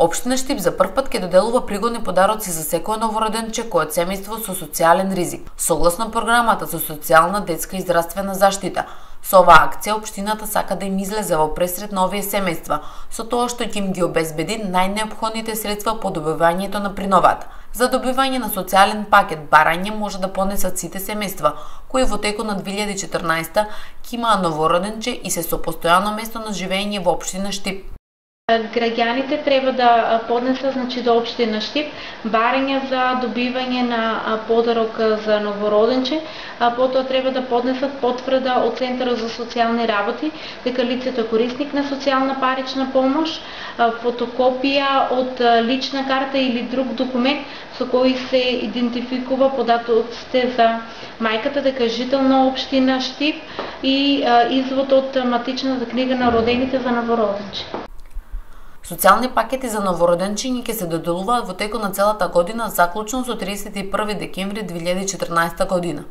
Општина Штип за прв пат ќе доделува пригодни подароци за секој новороденче кој од семејство со социјален ризик, согласно програмата за социјална, детска и здравствена заштита. Со оваа акција општината сака да им излезе во пресрет на овие семејства, со тоа што ќе им ги обезбеди најнеопходните средства по добивањето на приновата. За добивање на социјален пакет барање може да понесат сите семејства кои во текот на 2014 ќе имаа новороденче и се со постојано место на живење во општина Штип. Граѓаните треба да поднесат до општина Штип барање за добивање на подарок за новороденче, потоа треба да поднесат потврда од Центарот за социјални работи дека лицето е корисник на социјална парична помош, фотокопија од лична карта или друг документ со кој се идентификува податоците за мајката дека е жител на општина Штип и извод од матичната книга на родените за новороденче. Социјални пакети за новороденчиња ќе се доделуваат во текот на целата година, заклучно со 31 декември 2014 година.